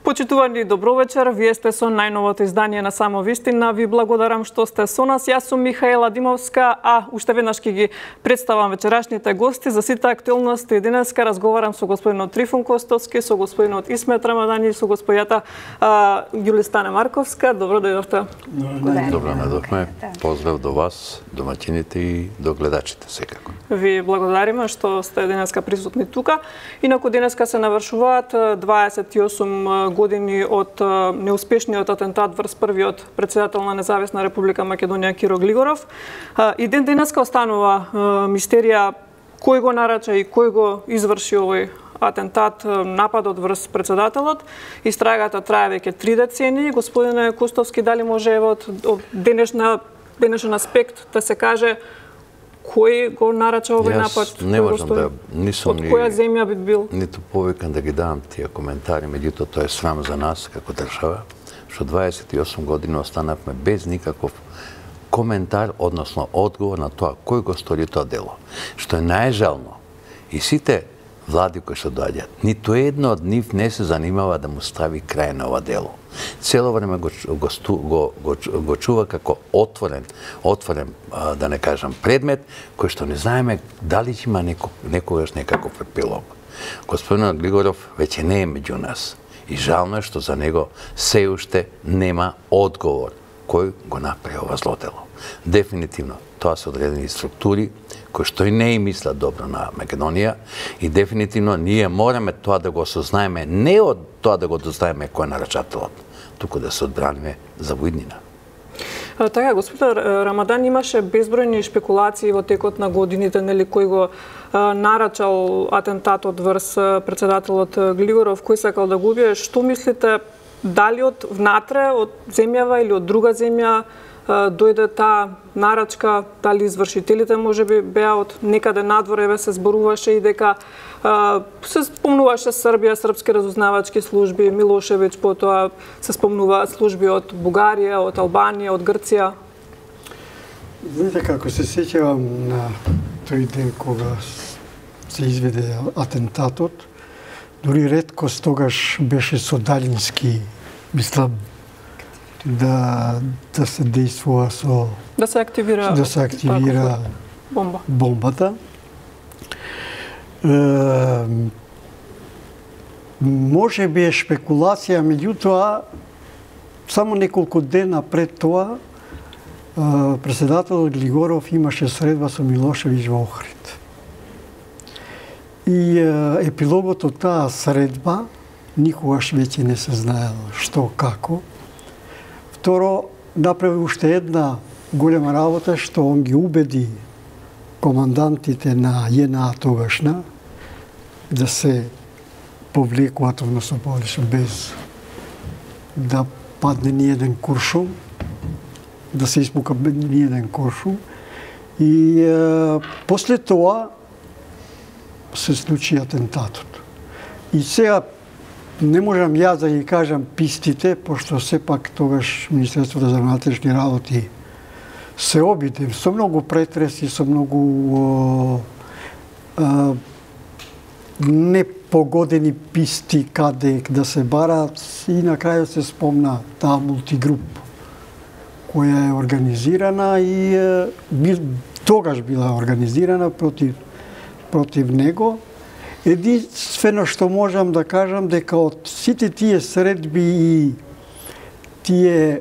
Почитувани, добро вечер. Вие сте со најновото издание на Само вистина. Ви благодарам што сте со нас. Јас сум Михаела Димовска, а уште веднаш ќе ги представам вечерашните гости за сите актуелности. Денеска разговарам со господинот Трифун Костовски, со господинот Исмет Рамадани и со господјата Ѓулистана Марковска. Добро дојдовте. Добро најдовме. Поздрав до вас, домаќините и до гледачите секако. Ви благодариме што сте денеска присутни тука. Инаку денеска се навршуваат 28 години од неуспешниот атентат врз првиот председател на Независна Република Македонија Киро Глигоров. И ден денеска останува мистерија кој го нарача и кој го изврши овој атентат, нападот врз председателот. Истрагата трае веќе 3 децении. Господине Костовски, дали може од денешен аспект да се каже кој го нарача овој напад? Не можам да, од која земја би бил? Ниту повикан да ги давам тие коментари, меѓутоа тоа е срам за нас како држава, што 28 години останавме без никаков коментар, односно одговор на тоа кој го стори тоа дело. Што е најжално, и сите влади кои што доаѓаат, ниту едно од нив не се занимава да му стави крај на ова дело. Цело време го чува како отворен, да не кажам, предмет, кој што не знаеме дали ќе има некогаш некаков епилог. Господинот Глигоров веќе не е меѓу нас и жално е што за него се уште нема одговор кој го направи ова зло дело. Дефинитивно, тоа се одредени структури кои што и не и мислат добро на Македонија и дефинитивно ние мораме тоа да го осознаеме, не од тоа да го дознаеме кој е нарачателот, туку да се одбраниме за воиднина. Така, господин Рамадан, имаше безбројни шпекулации во текот на годините, нели, кој го нарачал атентатот врз председателот Глигоров, кој сакал да го убие. Што мислите, дали од внатре, од земјава или од друга земја дојде таа нарачка, дали извршителите можеби беа од некаде надвор, еве се зборуваше и дека се спомнуваше Србија, српски разузнавачки служби, Милошевиќ, потоа се спомнуваат служби од Бугарија, од Албанија, од Грција. Знаете како се сеќавам на тој ден кога се изведе атентатот, дури реткост тогаш беше со далински, мислам, да се действува со... Да се активира бомбата. Може би е шпекулација, меѓутоа, само неколку дена пред тоа, председателот Глигоров имаше средба со Милошевиќ во Охрид. И епилогот од таа средба никогаш веќе не се знаело што, како. Второ, направи уште една голема работа, што он ги убеди командантите на ЈНА тогашна да се повлекуваат, односно без да падне ни еден куршум, да се испука ни еден куршум. И после тоа се случи атентатот. И сега не можам јас да ги кажам пистите, пошто сепак тогаш Министерството за внатрешни работи се обиде со многу претреси, со многу непогодени писти каде да се бараат и на крајот се спомна таа мултигруп која е организирана и тогаш била организирана против него. Единствено што можам да кажам дека од сите тие средби и тие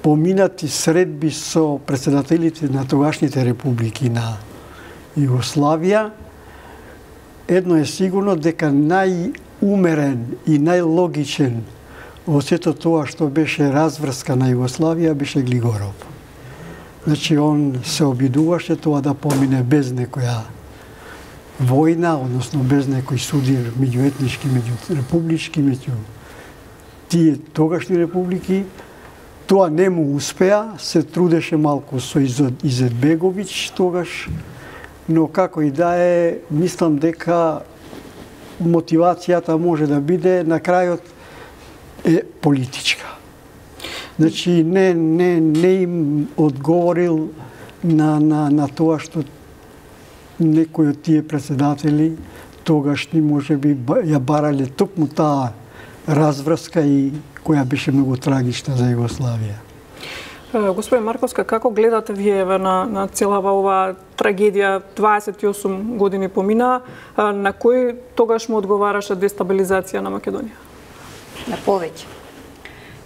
поминати средби со председателите на тогашните републики на Југославија, едно е сигурно дека најумерен и најлогичен во сето тоа што беше разврска на Југославија беше Глигоров. Значи, он се обидуваше тоа да помине без некоја војна, односно без некој судир меѓуетнички, меѓурепублички, меѓу тие тогашни републики. Тоа не му успеа, се трудеше малку со Изетбеговиќ тогаш, но како и да е, мислам дека мотивацијата може да биде на крајот е политичка. Значи, не им одговорил на тоа што некои од тие председатели тогашни можеби ја барале токму таа разврска и која беше многу трагична за Југославија. Господин Марковска, како гледате вие на целава оваа трагедија? 28 години помина, на кој тогаш му одговараше дестабилизација на Македонија? На повеќе.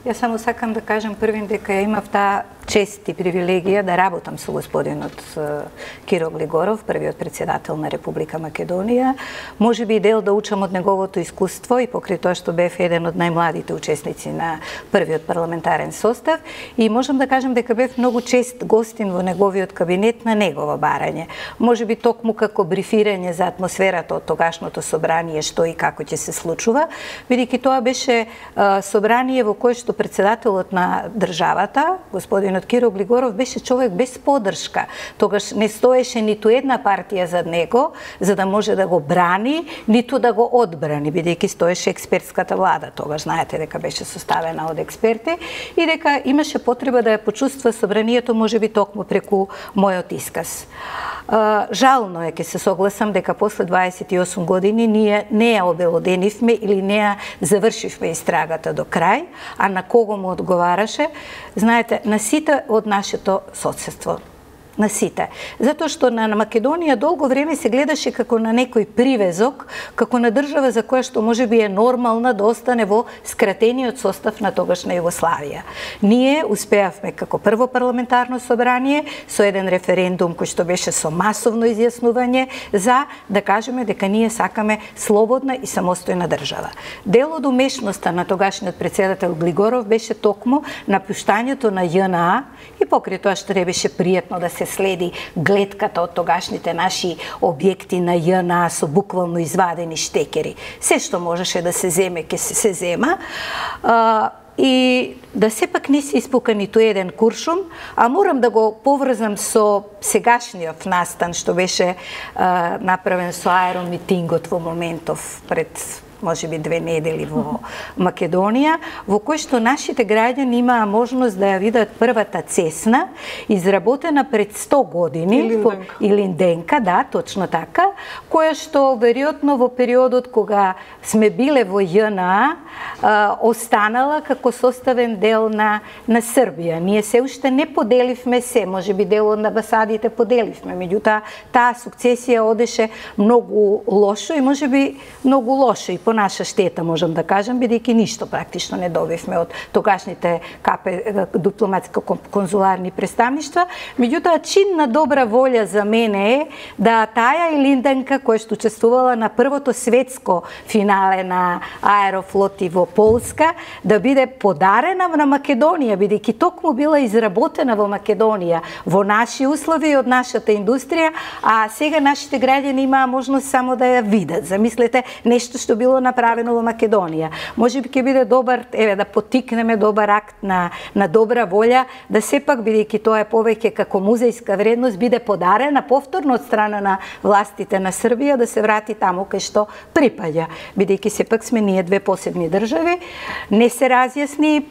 Јас само сакам да кажам првин дека ја имав таа чест и привилегија да работам со господинот Киро Глигоров, првиот председател на Република Македонија. Може би и дел да учам од неговото искуство и покрај тоа што бев еден од најмладите учесници на првиот парламентарен состав и можам да кажам дека бев многу чест гостин во неговиот кабинет на негово барање. Може би токму како брифирање за атмосферата од тогашното собрание, што и како ќе се случува, бидејќи тоа беше собрание во кое што председателот на државата, господинот Киро Глигоров, беше човек без поддршка. Тогаш не стоеше ниту една партија зад него за да може да го брани, ниту да го одбрани, бидејќи стоеше експертската влада. Тогаш знаете дека беше составена од експерти и дека имаше потреба да ја почувствува собранието можеби токму преку мојот исказ. Жално е, ке се согласам дека после 28 години ние не ја обелоденивме или не ја завршивме истрагата до крај, а на кого му одговараше, знаете, на сите од нашето соседство. На сите. Затоа што на Македонија долго време се гледаше како на некој привезок, како на држава за која што можеби е нормална да остане во скратениот состав на тогашна Југославија. Ние успеавме како прво парламентарно собрание со еден референдум кој што беше со масовно изјаснување за да кажеме дека ние сакаме слободна и самостојна држава. Дел од умешноста на тогашниот председател Глигоров беше токму напуштањето на ЈНА и покрај тоа што не беше пријатно да се следи гледката од тогашните наши објекти на ЈНА со буквално извадени штекери. Се што можеше да се земе, ке се зема. И да сепак не се испука ниту еден куршум, а морам да го поврзам со сегашниот настан што беше направен со аеромитингот во моментов пред може би 2 недели во Македонија, во кој што нашите граѓани имаа можност да ја видат првата цесна, изработена пред 100 години, Илинденка, да, точно така, која што веројатно во периодот кога сме биле во ЈНА, останала како составен дел на Србија. Ние се уште не поделивме се, може би дел од амбасадите поделивме, меѓутоа таа сукцесија одеше многу лошо и може би многу лошо и по наша штета, можам да кажам, бидејќи ништо практично не добивме од тогашните дипломатско-конзуларни представништва. Меѓутоа, чин на добра волја за мене е да таа Илинденка, која што учествувала на првото светско финале на Аерофлоти во Полска, да биде подарена на Македонија, бидејќи токму била изработена во Македонија, во наши услови од нашата индустрија, а сега нашите граѓани имаа можност само да ја видат. Замислете, нешто што било направено во Македонија. Може би ќе биде добар, да потикнеме добар акт на добра волја, да сепак, бидејќи тоа е повеќе како музејска вредност, биде подарена повторно од страна на властите на Србија да се врати таму кај што припаѓа. Бидејќи сепак сме ние две посебни држави, не се разјасни,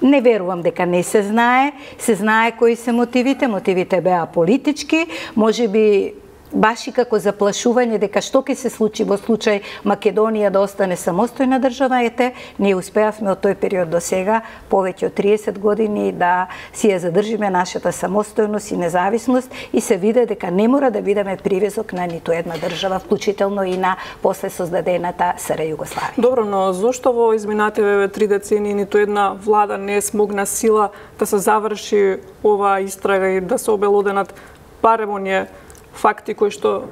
не верувам дека не се знае кои се мотивите. Мотивите беа политички, може би баш и како заплашување дека што ќе се случи во случај Македонија да остане самостојна држава, ние успеавме од тој период до сега повеќе од 30 години да си ја задржиме нашата самостојност и независност и се виде дека не мора да бидеме привезок на ниту една држава, вклучително и на после создадената СР Југославија. Добро, но зошто во изминативе 3 децении ниту една влада не смогна сила да се заврши оваа истрага и да се обелоденат барем оние факти кои што...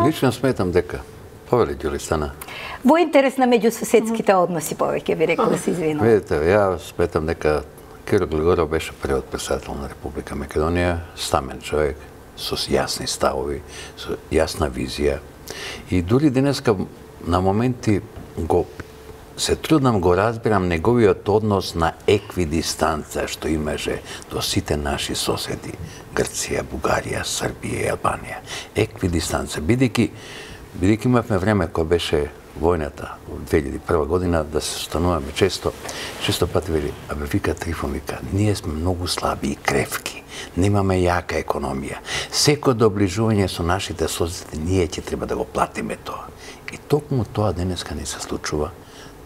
Лично сметам дека, повели Ѓулистана. Во интерес на меѓусоседските односи повеќе би рекол, да се извинувам. Видите, ја сметам дека Киро Глигоров беше првиот председател на Република Македонија, стамен човек, со јасни ставови, со јасна визија. И дури денеска на моменти се трудам го разбирам неговиот однос на еквидистанца што имаше до сите наши соседи, Грција, Бугарија, Србија и Албанија. Еквидистанца, бидејќи имавме време кога беше војната во 2001 година да се состануваме често пати вели, вика Трифон, вика, ние сме многу слаби и кревки. немаме јака економија. Секој доближување со нашите соседи, ние ќе треба да го платиме тоа. И токму тоа денеска не се случува.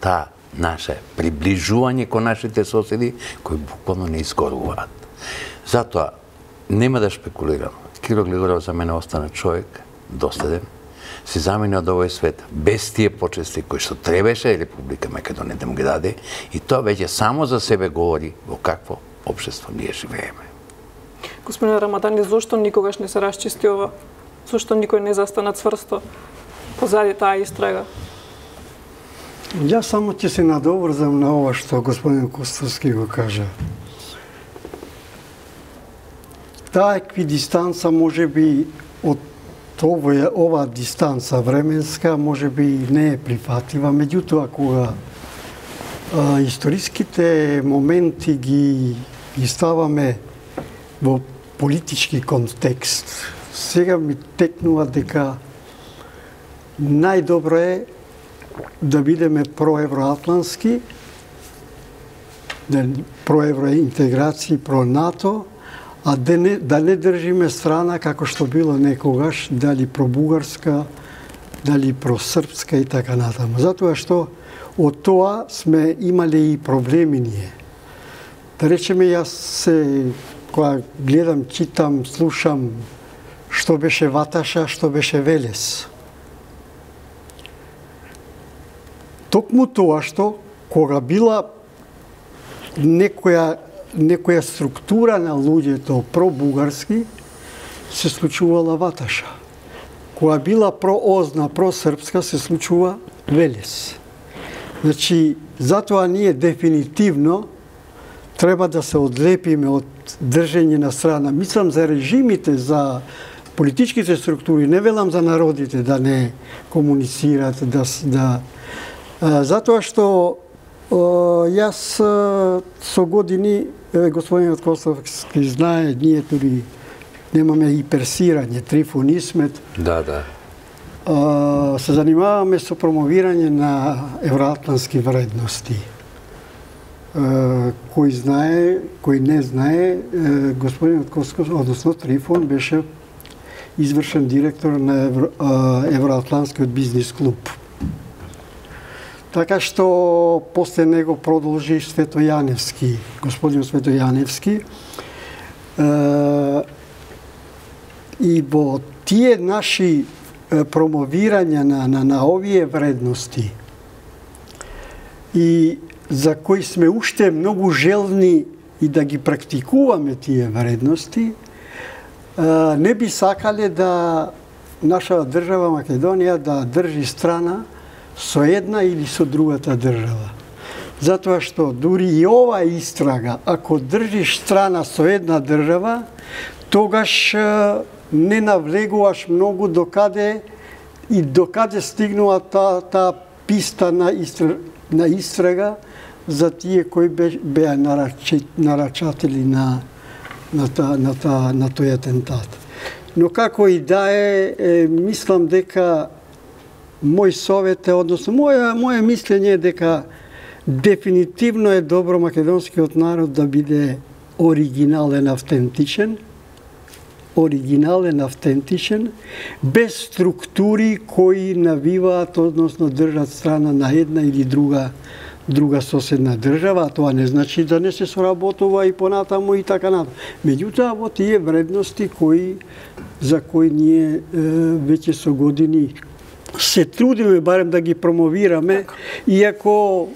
Таа наше приближување кон нашите соседи, кои буквално не изгоруваат. Затоа, нема да шпекулирам. Киро Глигоров за мене остана човек доследен, се замени од овој свет без тие почести кои што требаше Република Македонија да му ги даде, и тоа веќе само за себе говори во какво општество ние живееме. Господин Рамадани, зошто никогаш не се расчисти ова? Зошто никој не застана цврсто позади таа истрага? Јас само ќе се надоврзам на ова што господин Костовски го кажа. Таа еквидистанца може би од ова дистанца временска може би не е прифатлива, меѓутоа кога историските моменти ги ставаме во политички контекст, сега ми текнува дека најдобро е да бидеме проевроатлански, проевроинтеграција, про-НАТО, а да не држиме страна како што било некогаш, дали про-бугарска, дали про-српска и така натаму. Затоа што од тоа сме имале и проблеми ние. Да речеме, јас кога гледам, читам, слушам што беше Ваташа, што беше Велес. Токму тоа што кога била некоја структура на луѓето про-бугарски, се случувала Ваташа. Кога била про-озна, про-српска, се случува Велес. Значи, затоа ние дефинитивно треба да се одлепиме од држење на страна. Мислам за режимите, за политичките структури, не велам за народите да не комуницират, затоа што јас со години, господинот Костовски знае, ние туди немаме и персирање, Трифон Исмет. Да. Се занимаваме со промовирање на евроатлански вредности. Кој знае, кој не знае, господинот Костовски, односно Трифон, беше извршен директор на Евроатланскиот бизнис клуб. Така што после него продолжи Светојаневски, господин Светојаневски. И во тие наши промовирања на овие вредности и за кои сме уште многу желни и да ги практикуваме тие вредности, не би сакале да наша држава Македонија да држи страна со една или со другата држава. Затоа што дури и ова истрага, ако држиш страна со една држава, тогаш не навлегуваш многу докаде стигнува таа писта на истрага за тие кои беа нарачатели на тој атентат. Но како и да е, мислам дека мој совет е, односно моје мислење е дека дефинитивно е добро македонскиот народ да биде оригинален, автентичен, без структури кои навиваат, односно држат страна на една или друга соседна држава, а тоа не значи да не се соработува и понатаму и така натаму. Меѓутоа, во тие вредности за кои ние веќе со години се трудиме барем да ги промовираме, иако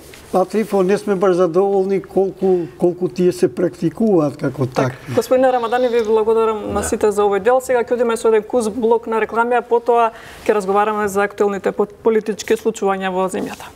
Трифон не сме баш задоволни колку тие се практикуваат како такви. Господине Рамадани, ви благодарам на сите за овој дел. Сега ќе одиме со еден куз блок на реклами, а потоа ќе разговараме за актуелните политички случувања во земјата.